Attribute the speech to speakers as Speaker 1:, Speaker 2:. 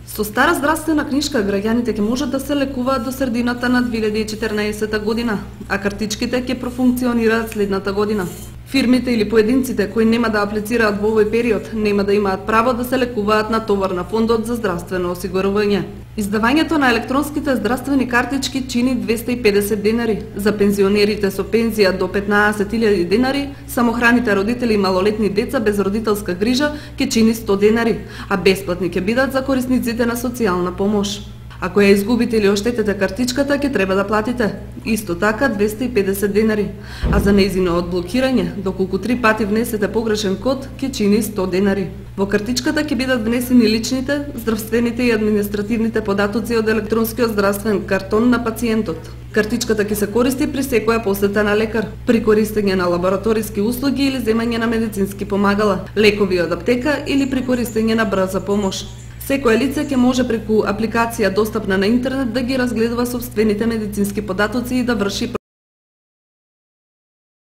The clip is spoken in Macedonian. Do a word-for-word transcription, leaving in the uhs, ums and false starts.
Speaker 1: Со стара здравствена книжка граѓаните ќе можат да се лекуваат до средината на две илјади и четрнаесетта година, а картичките ќе профункционираат следната година. Фирмите или поединците кои нема да аплицираат во овој период нема да имаат право да се лекуваат на товар на фондот за здравствено осигурување. Издавањето на електронските здравствени картички чини двесте и педесет денари. За пензионерите со пензија до петнаесет илјади денари, самохраните родители и малолетни деца без родителска грижа ќе чини сто денари, а бесплатни ќе бидат за корисниците на социјална помош. Ако ја изгубите или оштетете картичката, ќе треба да платите исто така двесте и педесет денари, а за нејзино одблокирање, доколку три пати внесете погрешен код, ќе чини сто денари. Во картичката ќе бидат внесени личните, здравствените и административните податоци од електронскиот здравствен картон на пациентот. Картичката ќе се користи при секоја посета на лекар, при користење на лабораториски услуги или земање на медицински помагала, лекови од аптека или при користење на брза помош. Секое лице ќе може преку апликација достапна на интернет да ги разгледува сопствените медицински податоци и да врши